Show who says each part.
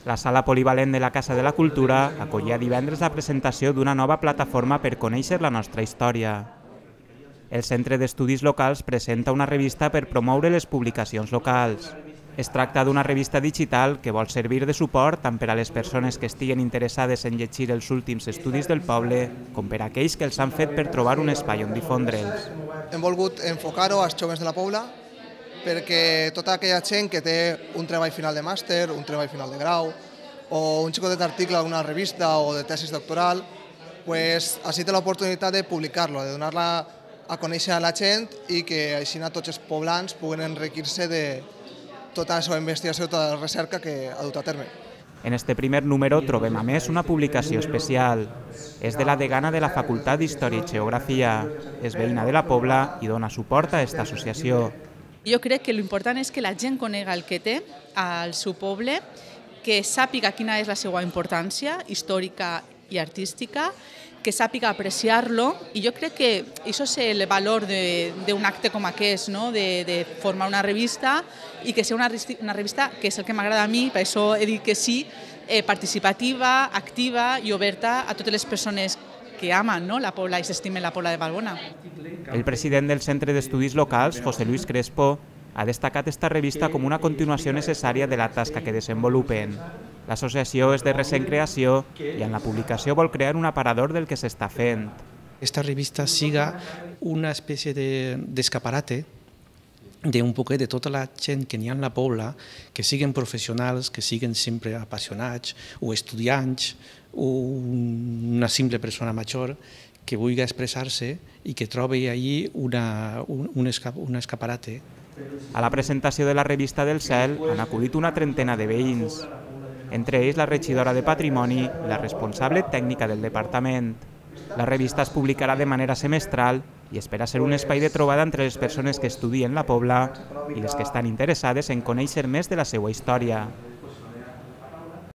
Speaker 1: La sala polivalent de la Casa de la Cultura acollia divendres la presentació d'una nova plataforma per conèixer la nostra història. El Centre d'Estudis Locals presenta una revista per promoure les publicacions locals. Es tracta d'una revista digital que vol servir de suport tant per a les persones que estiguen interessades en llegir els últims estudis del poble com per a aquells que els han fet per trobar un espai on difondre'ls.
Speaker 2: Hem volgut enfocar-ho als joves de la Pobla perquè tota aquella gent que té un treball final de màster, un treball final de grau o un xicotet article d'una revista o de tesis doctoral, així té l'oportunitat de publicar-lo, de donar-la a conèixer a la gent i que així tots els poblans puguen enriquir-se de tota la seva investigació, tota la recerca que ha dut a terme.
Speaker 1: En este primer número trobem a més una publicació especial. És de la degana de la Facultat d'Història i Geografia. És veïna de la Pobla i dona suport a aquesta associació.
Speaker 3: Jo crec que l'important és que la gent conega el que té al seu poble, que sàpiga quina és la seva importància històrica i artística, que sàpiga apreciar-lo, i jo crec que això és el valor d'un acte com aquest, de formar una revista i que sigui una revista, que és el que m'agrada a mi, per això he dit que sí, participativa, activa i oberta a totes les persones que amen la Pobla i s'estimen la Pobla de Valbona.
Speaker 1: El president del Centre d'Estudis Locals, José Luis Crespo, ha destacat esta revista com una continuació necessària de la tasca que desenvolupen. L'associació és de recent creació i en la publicació vol crear un aparador del que s'està fent.
Speaker 4: Esta revista siga una espècie d'escaparate d'un poquet de tota la gent que n'hi ha en la Pobla, que siguin professionals, que siguin sempre apassionats, o estudiants, o una simple persona major que vulgui expressar-se i que trobi allí un escaparate.
Speaker 1: A la presentació de la revista del Cel han acudit una trentena de veïns, entre ells la regidora de Patrimoni i la responsable tècnica del departament. La revista es publicarà de manera semestral i espera ser un espai de trobada entre les persones que estudien la Pobla i les que estan interessades en conèixer més de la seva història.